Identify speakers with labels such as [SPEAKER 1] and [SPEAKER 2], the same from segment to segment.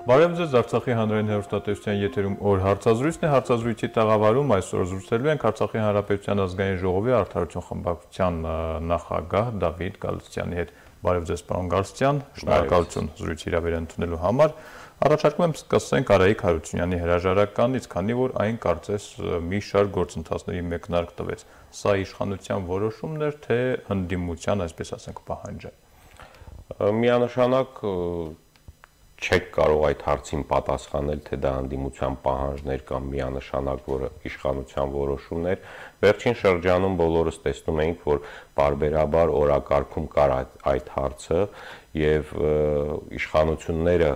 [SPEAKER 1] Բարև ձեզ, Արցախի հանրային հեռուստատեսության եթերում օր հարցազրույցն է, հարցազրույցի տաղավարում այսօր զրուցելու ենք Արցախի հանրապետության ազգային ժողովի արդարություն խմբակցության նախագահ Դավիթ Գալստյանի հետ։ Բարև ձեզ, պարոն Գալստյան, շնորհակալություն զրույցի հրավեր ընդունելու համար։ Առաջարկում եմ սկսենք Արայիկ Հարությունյանի հրաժարականից, քանի որ այն կարծես մի շարք գործընթացների մեկնարկ տվեց։ Սա իշխանության որոշումն էր, թե հնդիմության, այսպես ասենք, պահանջը։
[SPEAKER 2] Միանշանակ չեք կարող այդ հարցին պատասխանել, թե դա հանդիմության պահանջներ կամ միանշանակ, որը իշխանության որոշումն էր։ Վերջին շրջանում բոլորս տեսնում էինք, որ բարբերաբար օրակարգում կար այդ հարցը եւ իշխանությունները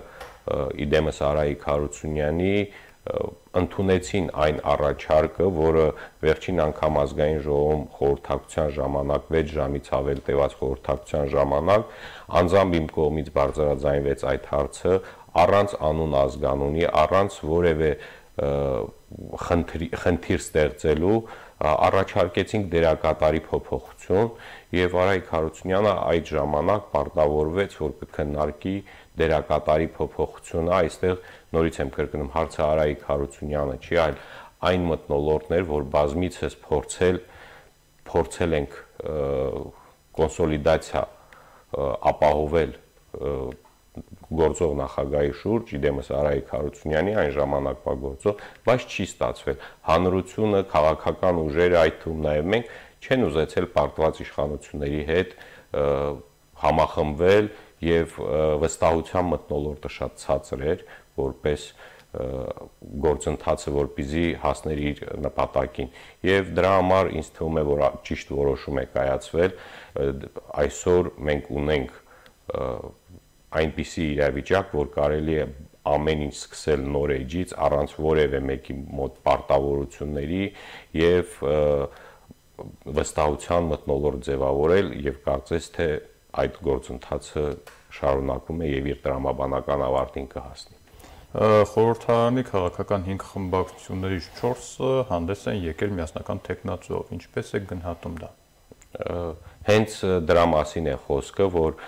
[SPEAKER 2] իդեմս Արայիկ Հարությունյանի ընդունեցին այն առաջարկը, որը վերջին անգամ ազգային ժողովում խորհրդակցության ժամանակ 6 ժամից ավել տևած խորհրդակցության ժամանակ անձամբ իմ կողմից բարձրաձայնվեց այդ հարցը առանց անուն ազգանունի, առանց որևէ խնդիր ստեղծելու առաջարկեցինք դերակատարի փոփոխություն եւ Արայիկ Հարությունյանը այդ ժամանակ պարտավորվեց, որ կքննարկի դերակատարի փոփոխությունը, այստեղ նորից եմ կրկնում, հարցը Արայիկ Հարությունյանը չի, այլ այն մթնոլորտներ, որ բազմիցս փորձել ենք կոնսոլիդացիա ապահովել գործող նախագահի շուրջ, իդեմս Արայիկ Հարությունյանի այն ժամանակվա գործող, բայց չի ստացվել։ Հանրությունը, քաղաքական ուժերը, այդ թվում նաև մենք չեն ուզեցել պարտված իշխանությունների հետ համախմբվել եւ վստահության մթնոլորտը շատ ցածր էր, որպես գործընթացը, որպեսզի հասներ իր նպատակին։ Եվ դրա համար ինձ թվում է, որ ճիշտ որոշում է կայացվել։ Այսօր մենք ունենք այնպիսի իրավիճակ, որ կարելի է ամեն ինչ սկսել նոր էջից, առանց որևէ մեկի մոտ պարտավորությունների եւ վստահության մթնոլորտ ձևավորել եւ կարծես թե այդ գործընթացը շարունակում է եւ իր տրամաբանական ավարտին կհասնի։
[SPEAKER 1] Խորհրդարանի քաղաքական 5 խմբակցություններից 4-ը հանդես են եկել միասնական տեխնացուով։ Ինչպես է գնահատում դա։
[SPEAKER 2] Հենց դրա մասին է խոսքը, որ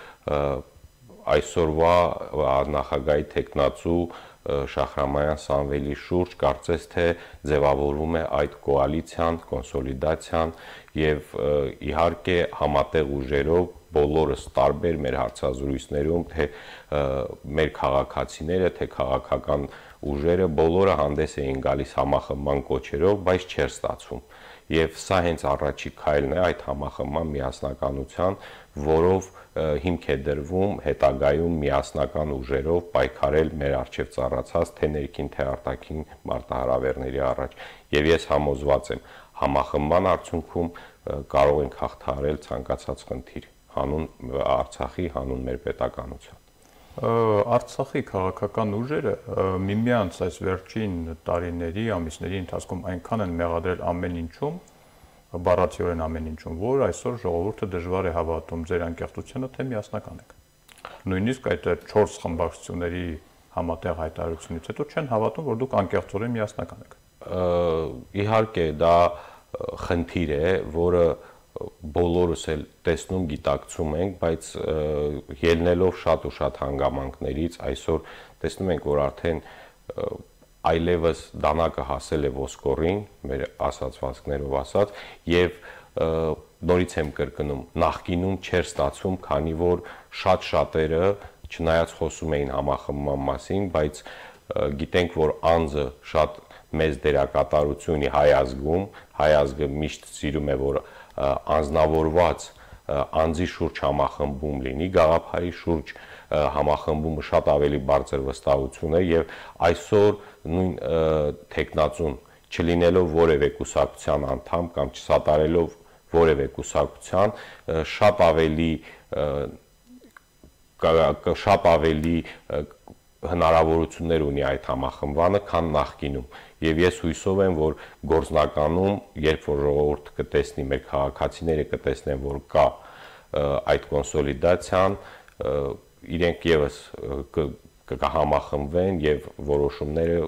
[SPEAKER 2] այսօրվա նախագահի տեխնացու Շահրամանյան Սամվելի շուրջ կարծես թե ձևավորվում է այդ կոալիցիան, կոնսոլիդացիան եւ իհարկե համատեղ ուժերով բոլորս տարբեր մեր հարցազրույցներում, թե մեր քաղաքացիները, թե քաղաքական ուժերը բոլորը հանդես էին գալիս համախմբման կոչերով, բայց չէր ստացվում։ Եվ սա հենց առաջի քայլն է այդ համախմբման միասնականության, որով հիմք է դրվում հետագայում միասնական ուժերով պայքարել մեր առջև ծառացած թե ներքին թե արտաքին մարտահրավերների առաջ։ Եվ ես համոզված եմ, համախմբման արդյունքում կարող ենք հաղթահարել ցանկացած խնդիր հանուն Արցախի, հանուն մեր պետականության։
[SPEAKER 1] Արցախի քաղաքական ուժերը միմյանց այս վերջին տարիների, ամիսների ընթացքում այնքան են մեղադրել ամեն ինչում, բառացիորեն ամեն ինչում, որ այսօր ժողովուրդը դժվար է հավատում ձեր անկեղծությանը, թե միասնական եք։ Նույնիսկ այդ 4 խմբակցությունների համատեղ հայտարարությունից հետո չեն հավատում, որ դուք անկեղծորեն միասնական եք։
[SPEAKER 2] Իհարկե դա խնդիր է, որը բոլորս էլ տեսնում, գիտակցում ենք, բայց ելնելով շատ ու շատ հանգամանքներից այսօր տեսնում ենք, որ արդեն այլևս դանակը հասել է ոսկորին, մեր ասացվածքներով ասած, եւ նորից եմ կրկնում, նախկինում չէր ստացվում, քանի որ շատերը չնայած խոսում էին համախմբման մասին, բայց գիտենք, որ անձը շատ մեծ դերակատարություն ունի հայ ազգում, հայ ազգը միշտ սիրում է, որ անձնավորված անձի շուրջ համախմբում լինի, գաղափարի շուրջ համախմբումը շատ ավելի բարձր վստահություն է եւ այսօր նույն տեխնացուն չլինելով որևէ կուսակցության անդամ կամ չսատարելով որևէ կուսակցության շատ ավելի հնարավորություններ ունի այդ համախմբանը, քան նախկինում։ Եվ ես հույսով եմ, որ գործնականում, երբ որ ժողովուրդը կտեսնի, մեր քաղաքացիները կտեսնեն, որ կա այդ կոնսոլիդացիան, իրենք եւս կհամախմբվեն եւ որոշումները,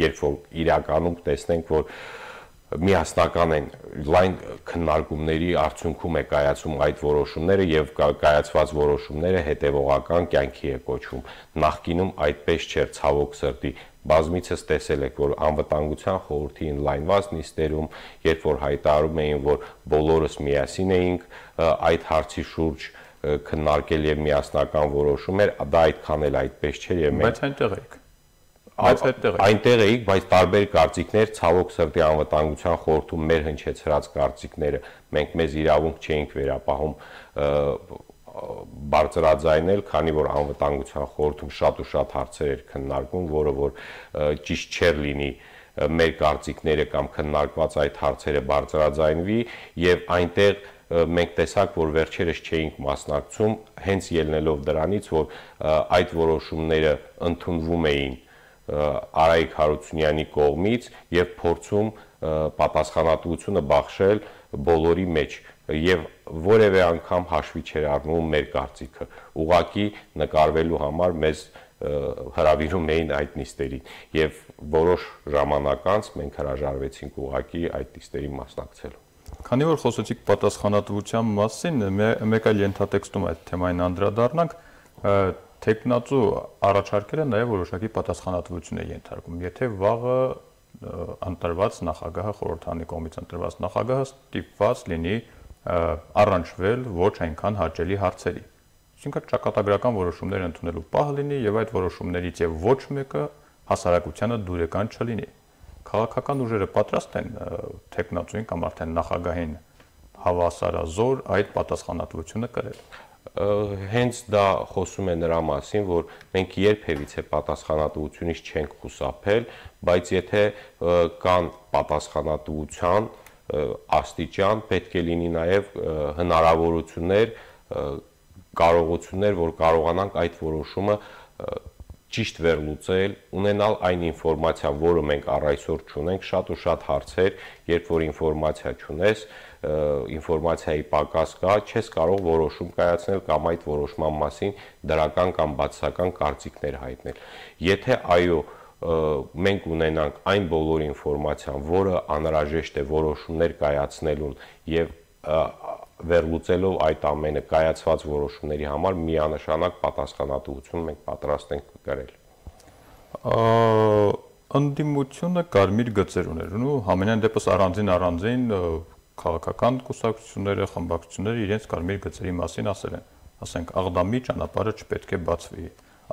[SPEAKER 2] երբ որ իրականում տեսնենք, որ միասնական են լայն քննարկումների արդյունքում է կայացում այդ որոշումները եւ կայացված որոշումները հետեւողական կյանքի է կոչվում։ Նախկինում այդպես չէր, ցավոք սրտի։ Բազմիցս տեսել եք, որ անվտանգության խորհրդի ինլայնված նիստերում, երբ որ հայտարարում էին, որ բոլորս միասին էինք այդ հարցի շուրջ քննարկել եւ միասնական որոշումներ, դա այդքան էլ այդպես չէր եւ մենք այնտեղ էիք, բայց տարբեր կարծիքներ, ցավոք սրտի անվտանգության խորհրդում մեր հնչեցրած կարծիքները մենք մեզ իրավունք չէինք վերապահում բարձրաձայնել, քանի որ անվտանգության խորհրդում շատ ու շատ հարցեր էր քննարկվում, որը որ ճիշտ չէր լինի մեր կարծիքները կամ քննարկված այդ հարցերը բարձրաձայնվի եւ այնտեղ մենք տեսակ, որ վերջերս չէինք մասնակցում, հենց ելնելով դրանից, որ այդ որոշումները ընդունվում էին Արայիկ Հարությունյանի կողմից եւ փորձում պատասխանատվությունը բաշխել բոլորի մեջ եւ որևէ անգամ հաշվի չէր առնում մեր կարծիքը ուղակի նկարվելու համար մեզ հրավիրում էին այդ նիստերին եւ որոշ ժամանակ անց մենք հրաժարվեցինք ուղակի այդ նիստերին մասնակցելու
[SPEAKER 1] Քանի որ խոսեցիք պատասխանատվության մասին մեկ այլ ենթատեքստում այդ թեմային անդրադառնանք Տեխնացու առաջարկելը նաև որոշակի պատասխանատվություն է ենթարկում։ Եթե վաղը ընտրված նախագահը խորհրդանի կողմից ընտրված նախագահը ստիպված լինի առանջվել ոչ այնքան հաճելի հարցերի։ Այսինքն ճակատագրական որոշումներ ընդունելու պահ լինի եւ այդ որոշումներից եւ ոչ մեկը հասարակությանը դուրեկան չլինի։ Քաղաքական ուժերը պատրաստ են տեխնացուին կամ արդեն նախագահին հավասարազոր այդ պատասխանատվությունը կրել։
[SPEAKER 2] Հենց դա խոսում է նրա մասին, որ մենք երբևիցե պատասխանատվությունից չենք խուսափել, բայց եթե կան պատասխանատվության աստիճան, պետք է լինի նաև հնարավորություններ, կարողություններ, որ կարողանանք այդ որոշումը ճիշտ վերլուծել, ունենալ այն ինֆորմացիան, որը մենք առ այսօր չունենք, շատ ու շատ հարցեր, երբ որ ինֆորմացիա չունես, ինֆորմացիայի պակաս կա, չես կարող որոշում կայացնել կամ այդ որոշման մասին դրական կամ բացասական կարծիքներ հայտնել։ Եթե այո, մենք ունենանք այն բոլոր ինֆորմացիան, որը անհրաժեշտ է որոշումներ կայացնելուն եւ վերլուծելով այդ ամենը կայացված որոշումների համար միանշանակ պատասխանատվություն մենք պատրաստ ենք կրել։
[SPEAKER 1] Ընդդիմությունը կարմիր գծեր ուներ ու համենայն դեպս առանձին քաղաքական կուսակցությունները, խմբակցությունները իրենց կարմիր գծերի մասին ասել են, ասենք Աղդամի ճանապարհը չպետք է բացվի,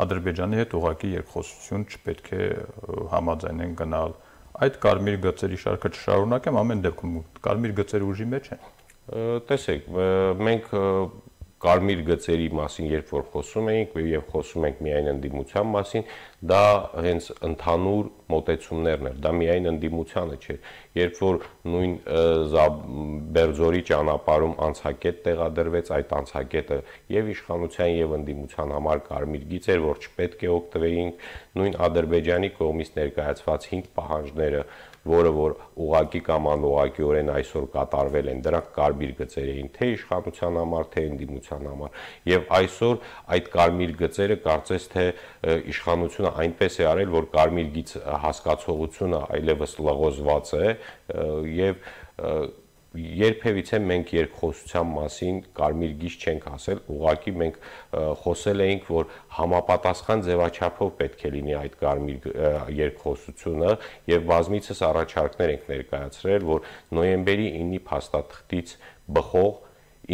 [SPEAKER 1] Ադրբեջանի հետ ուղղակի երկխոսություն չպետք է համաձայնեն գնալ։ Այդ կարմիր գծերի շարքը չշարունակեմ, ամեն դեպքում կարմիր գծերը ուժի մեջ են։
[SPEAKER 2] Տեսեք, մենք կարմիր գծերի մասին երբ որ խոսում էինք եւ խոսում ենք միայն ընդդիմության մասին, դա հենց ընդհանուր մոտեցումներն էր, դա միայն ընդդիմությանը չէր։ Երբ որ նույն Բերձորի ճանապարհում անցակետ տեղադրվեց, այդ անցակետը եւ իշխանության եւ ընդդիմության համար կարմիր գիծ էր, որ չպետք է օգտվեինք, նույն Ադրբեջանի կողմից ներկայացված 5 պահանջները, որը որ ուղակի կամ անուղղակիորեն այսօր կատարվել են, դրանք կարմիր գծեր էին թե իշխանության համար, թե ընդդիմության համար։ Եվ այսօր այդ կարմիր գծերը կարծես թե իշխանությունը այնպես է արել, որ կարմիր գիծ հասկացողությունը այլևս լղոզված է եւ երբևիցե մենք երկխոսության մասին կարմիր գիծ չենք ասել, ուղղակի մենք խոսել էինք, որ համապատասխան ձևաչափով պետք է լինի այդ կարմիր երկխոսությունը եւ բազմիցս առաջարկներ ենք ներկայացրել, որ նոյեմբերի 9-ի փաստաթղթից բխող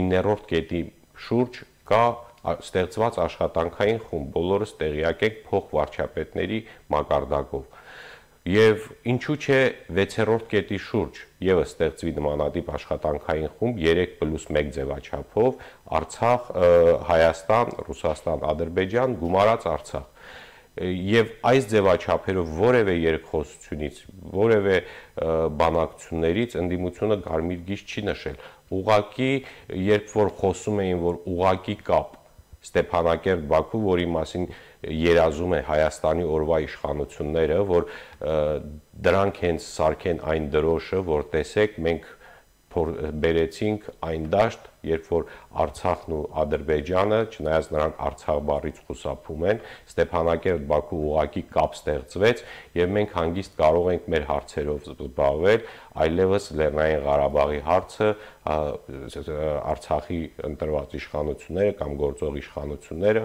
[SPEAKER 2] 9-րդ կետի շուրջ կա ստեղծված աշխատանքային խումբ, բոլորս տեղյակ ենք փոխվարչապետների մակարդակով։ Եվ ինչու՞ չէ 6-րդ կետի շուրջ եւս ստեղծվի նմանատիպ աշխատանքային խումբ 3+1 ձևաչափով Արցախ, Հայաստան, Ռուսաստան, Ադրբեջան գումարած Արցախ։ Եվ այս ձևաչափերով որևէ երկխոսությունից, որևէ բանակցություններից ընդդիմությունը կարմիր գիծ չի նշել։ Ուղղակի երբ որ խոսում էին, որ ուղղակի կապ Ստեփանակերտ-Բաքու, որի մասին երազում է Հայաստանի օրվա իշխանությունները, որ դրանք հենց սարքեն այն դրոշը, որ տեսեք, մենք բերեցինք այն դաշտ, երբ որ Արցախն ու Ադրբեջանը, չնայած նրանք Արցախ բառից խուսափում են, Ստեփանակերտ-Բաքու ուղղակի կապ ստեղծվեց եւ մենք հանգիստ կարող ենք մեր հարցերով զբաղվել, այլևս Լեռնային Ղարաբաղի հարցը Արցախի ընտրված իշխանությունները կամ գործող իշխանությունները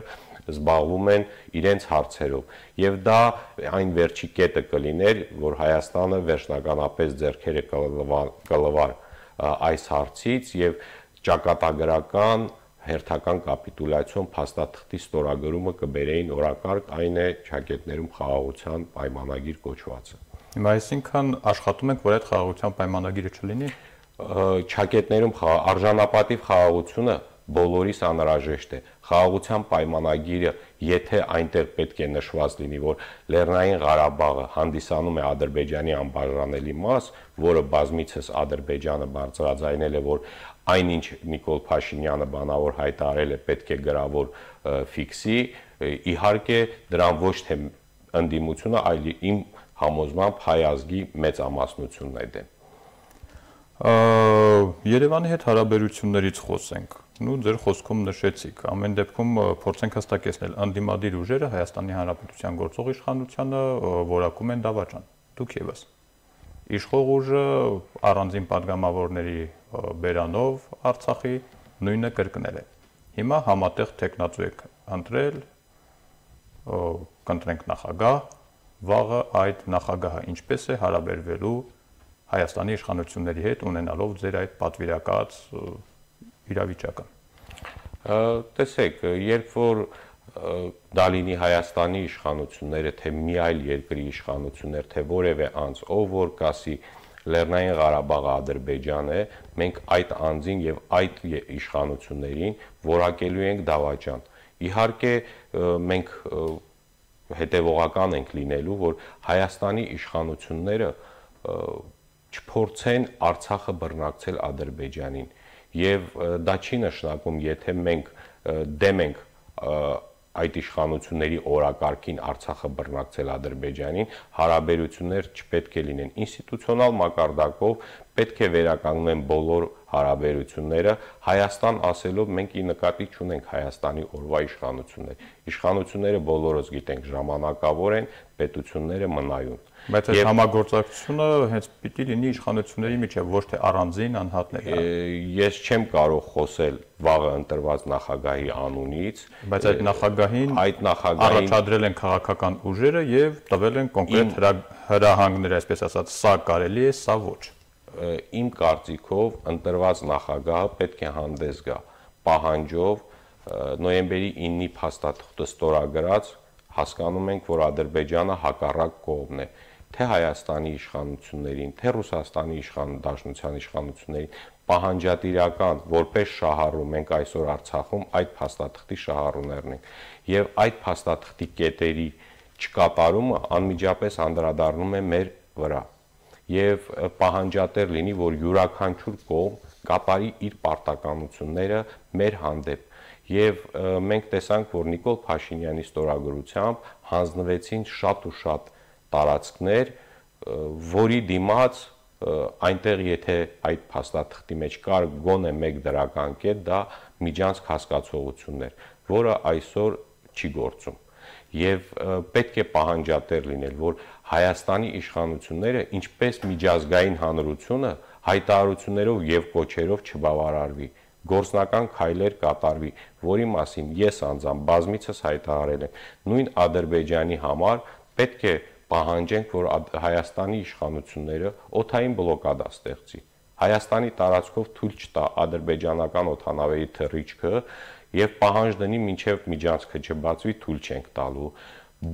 [SPEAKER 2] զբաղվում են իրենց հարցերով եւ դա այն վերջի կետը կլիներ, որ Հայաստանը վերջնականապես ձեռքերը կլվար այս հարցից եւ ճակատագրական հերթական կապիտուլյացիոն փաստաթղթի ստորագրումը կբերեին օրակարգ, այն է ճակատներում խաղաղության պայմանագիր կոչվածը։
[SPEAKER 1] Հիմա այսինքն աշխատում ենք, որ այդ խաղաղության պայմանագիրը չլինի։
[SPEAKER 2] Ճակատներում արժանապատիվ խաղաղությունը բոլորիս անհրաժեշտ է։ Խաղաղության պայմանագիրը, եթե այնտեղ պետք է նշված լինի, որ Լեռնային Ղարաբաղը հանդիսանում է Ադրբեջանի անբաժանելի մաս, որը բազմիցս Ադրբեջանը բարձրաձայնել է, որ այնինչ Նիկոլ Փաշինյանը բանավոր հայտարարել է, պետք է գրավոր ֆիքսի, իհարկե դրան ոչ թե ընդդիմությունը, այլ իմ համոզմամբ հայ ազգի մեծամասնությունն է դեմ։
[SPEAKER 1] Երևանի հետ հարաբերություններից խոսենք։ Նու ձեր խոսքում նշեցիք, ամեն դեպքում փորձենք հստակեցնել, ընդդիմադիր ուժերը Հայաստանի Հանրապետության գործող իշխանությանը որակում են դավաճան։ Դուք եւս։ Իշխող ուժը առանձին падգամավորների բերանով Արցախի նույնը կրկնել է։ Հիմա համատեղ տեխնացու եք ընտրել, կընտրենք նախագահ, վաղը այդ նախագահը ինչպես է հարաբերվելու Հայաստանի իշխանությունների հետ ունենալով ձեր այդ պատվիրակած իրավիճակը։
[SPEAKER 2] Տեսեք, երբ որ դա լինի Հայաստանի իշխանությունները, թե մի այլ երկրի իշխանություններ, թե որևէ անձ, ով որ կասի Լեռնային Ղարաբաղը Ադրբեջան է, մենք այդ անձին եւ այդ իշխանություններին որակելու ենք դավաճան։ Իհարկե մենք հետևողական ենք լինելու, որ Հայաստանի իշխանությունները չփորձեն Արցախը բռնակցել Ադրբեջանին եւ դա չի նշանակում, եթե մենք դեմ ենք այդ իշխանությունների օրակարգին Արցախը բռնակցել Ադրբեջանին, հարաբերություններ չպետք է լինեն ինստիտուցիոնալ մակարդակով, պետք է վերականգնեն բոլոր հարաբերությունները, Հայաստան ասելով մենք ի նկատի չունենք Հայաստանի օրվա իշխանությունները բոլորս գիտենք ժամանակավոր են, պետությունները մնայուն։
[SPEAKER 1] Բայց այդ համագործակցությունը հենց պիտի լինի իշխանությունների միջև, ոչ թե առանձին անհատների։
[SPEAKER 2] Ես չեմ կարող խոսել վաղը ընտրված նախագահի անունից,
[SPEAKER 1] բայց այդ նախագահին առաջադրել են քաղաքական ուժերը եւ տվել են կոնկրետ հրահանգներ, այսպես ասած, սա կարելի է, սա ոչ։
[SPEAKER 2] Իմ կարծիքով ընտրված նախագահը պետք է հանդես գա պահանջով նոյեմբերի 9-ի փաստաթղթը ստորագրած, հասկանում ենք, որ Ադրբեջանը հակառակ կողմն է, թե Հայաստանի իշխանություններին, թե Ռուսաստանի Դաշնության իշխանություններին պահանջատիրական որպես շահառու մենք այսօր Արցախում այդ փաստաթղթի շահառուներն ենք եւ այդ փաստաթղթի կետերի չկատարումը անմիջապես անդրադառնում է մեր վրա եւ պահանջատեր լինի, որ յուրաքանչյուր կողմ կատարի իր պարտականությունները մեր հանդեպ եւ մենք տեսանք, որ Նիկոլ Փաշինյանի ստորագրությամբ հանձնվեցին շատ ու շատ տարածքներ, որի դիմաց այնտեղ եթե այդ փաստաթղթի մեջ կար գոնե մեկ դրական կետ, դա միջանցք հասկացողությունն էր, որը այսօր չի գործում եւ պետք է պահանջատեր լինել, որ Հայաստանի իշխանությունները ինչպես միջազգային հանրությունը հայտարարություններով եւ կոչերով չբավարարվի, գործնական քայլեր կատարվի, որի մասին ես անձամբ բազմիցս հայտարարել եմ, նույն Ադրբեջանի համար պետք է պահանջենք, որ Հայաստանի իշխանությունները օդային բլոկադա ստեղծի, Հայաստանի տարածքով թույլ չտա ադրբեջանական օդանավերի թռիչքը եւ պահանջ դնի մինչեւ միջանցքը չբացվի, թույլ չենք տալու։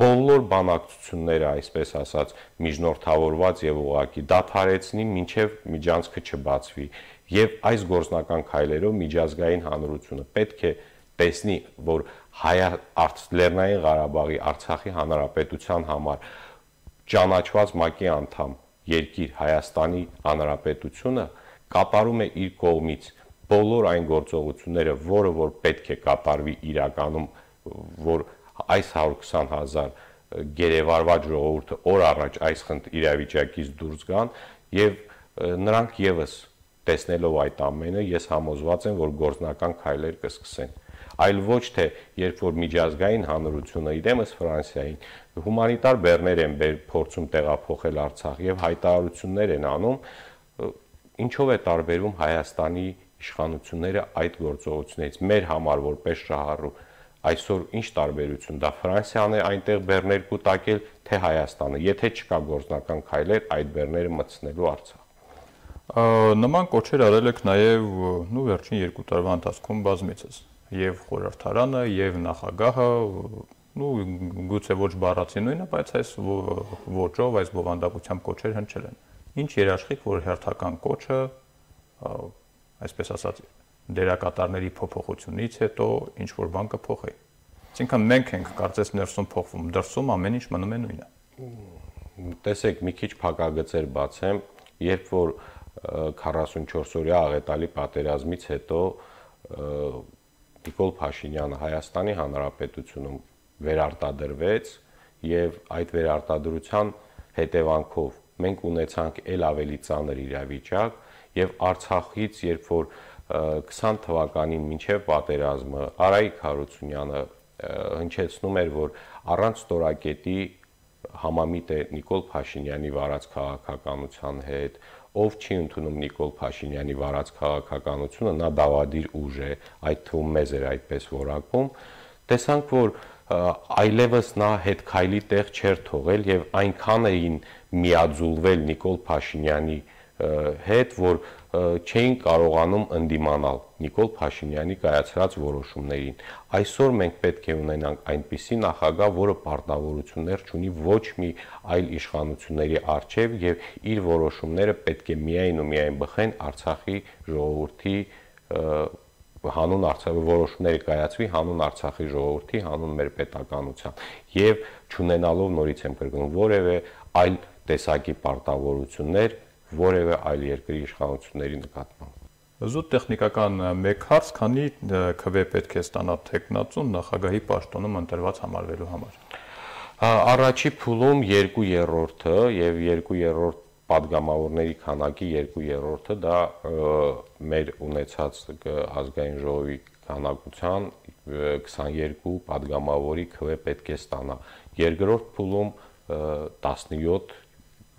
[SPEAKER 2] Բոլոր բանակցությունները, այսպես ասած, միջնորդավորված եւ ուղղակի դադարեցնի մինչեւ միջանցքը չբացվի եւ այս գործնական քայլերով միջազգային հանրությունը պետք է տեսնի, որ Լեռնային Ղարաբաղի Արցախի հանրապետության համար ճանաչված ՄԱԿ-ի անդամ երկիր Հայաստանի հանրապետությունը կատարում է իր կողմից բոլոր այն գործողությունները, որը որ պետք է կատարվի իրականում, որ այս 120,000 գերեվարված ժողովուրդը օր առաջ այս իրավիճակից դուրս գան եւ նրանք եւս տեսնելով այդ ամենը, ես համոզված եմ, որ գործնական քայլեր կսկսեն։ Այլ ոչ թե երբ որ միջազգային հանրությունը իրեմս Ֆրանսիային հումանիտար բեռներ են փորձում տեղափոխել Արցախ եւ հայտարարություններ են անում, ինչով է տարբերվում Հայաստանի իշխանությունները այդ գործողություններից մեր համար որպես շահառու այսօր ինչ տարբերություն դա Ֆրանսիան է այնտեղ բեռներ կուտակել թե Հայաստանը, եթե չկա գործնական քայլեր այդ բեռները մտցնելու Արցախ։
[SPEAKER 1] Նման կոչեր արել եք նաև վերջին 2 տարվա ընթացքում բազմիցս եւ խորհրդարանը եւ նախագահը գուցե ոչ բառացի նույնը, բայց այս ոճով, այս բովանդակությամբ կոչեր հնչել են։ Ինչ երաշխիք, որ հերթական կոչը, այսպես ասած, դերակատարների փոփոխությունից հետո ինչ որ բան կփոխի։ Այսինքն մենք ենք կարծես ներսում փոխվում, դրսում ամեն ինչ մնում է նույնը։
[SPEAKER 2] Տեսեք, մի քիչ փակագծեր բացեմ, երբ որ 44-օրյա աղետալի պատերազմից հետո Նիկոլ Փաշինյանը Հայաստանի Հանրապետությունում վերարտադրվեց եւ այդ վերարտադրության հետևանքով մենք ունեցանք ել ավելի ծանր իրավիճակ եւ Արցախից երբ որ 20 թվականին մինչև պատերազմը Արայիկ Հարությունյանը հնչեցնում էր, որ առանց ստորակետի համամիտ է Նիկոլ Փաշինյանի վարած քաղաքականության հետ, ով չի ընդունում Նիկոլ Փաշինյանի վարած քաղաքականությունը, նա դավադիր ուժ է, այդ թվում մեզ էր այդպես որակում, տեսանք, որ այլևս նա հետ քայլի տեղ չէր թողել եւ այնքան էին միաձուլվել Նիկոլ Փաշինյանի հետ, որ չէին կարողանում ընդդիմանալ Նիկոլ Փաշինյանի կայացրած որոշումներին։ Այսօր մենք պետք է ունենանք այնպիսի նախագահ, որը պարտավորություններ չունի ոչ մի այլ իշխանությունների առջև եւ իր որոշումները պետք է միայն ու միայն բխեն Արցախի ժողովրդի հանուն Արցախի որոշումները կայացվի հանուն Արցախի ժողովրդի, հանուն մեր պետականության եւ չունենալով նորից եմ կրկնում որևէ այլ տեսակի պարտավորություններ որևէ այլ երկրի իշխանությունների նկատմամբ։
[SPEAKER 1] Զուտ տեխնիկական մեկ հարց, քանի քվե պետք է ստանա տեխնացուն նախագահի պաշտոնում ընտրված համարվելու համար։
[SPEAKER 2] Առաջի փուլում 2/3-ը եւ 2/3 падգամավորների քանակի 2/3-ը դա մեր ունեցած ազգային ժողովի քանակության 22 падգամավորի քվե պետք է ստանա։ Երկրորդ փուլում 17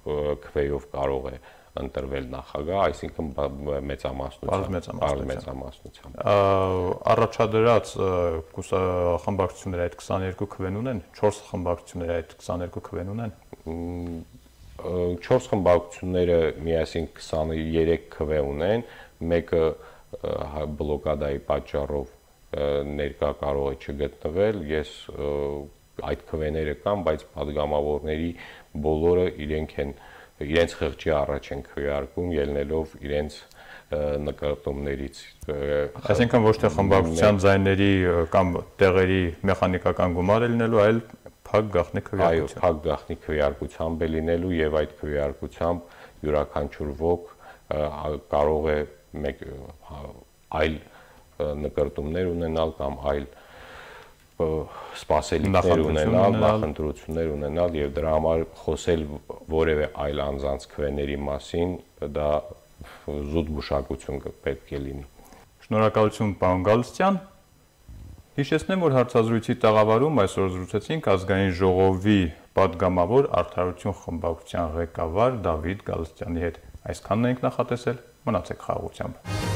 [SPEAKER 2] քվեով կարող է ընտրվել նախագահ, այսինքն մեծամասնությամբ։
[SPEAKER 1] Առաջադրած խմբակցությունները այդ 22 քվեն ունեն, 4 խմբակցությունները այդ 22 քվեն ունեն։
[SPEAKER 2] 4 խմբակցությունները միասին 23 քվե ունեն, մեկը բլոկադայի պատճառով ներկա կարող է չգտնվել, ես այդ քվեները կան, բայց падգամավորների բոլորը իրենց խղճի առաջ են քվեարկում, ելնելով իրենց նկատումներից։
[SPEAKER 1] Այսինքն ոչ թե խմբակցության ձայների կամ տեղերի մեխանիկական գումար է լինելու, այլ փակ գաղտնի քվեարկությամբ։
[SPEAKER 2] Այո, փակ գաղտնի քվեարկությամբ է լինելու եւ այդ քվեարկությամբ յուրաքանչյուր ոք կարող է այլ նկարտումներ ունենալ կամ այլ սպասելիքներ ունենալ, նախընտրություններ ունենալ եւ դրա համար խոսել որևէ այլ անձանց քվեների մասին դա զուտ գուշակություն պետք է լինի։
[SPEAKER 1] Շնորհակալություն, պարոն Գալստյան։ Հիշեցնեմ, որ հարցազրույցի տաղավարում այսօր զրուցեցինք ազգային ժողովի падգամավոր Արդարություն խմբակցության ղեկավար Դավիթ Գալստյանի հետ։ Այսքանն ենք նախատեսել, մնացեք խաղաղությամբ։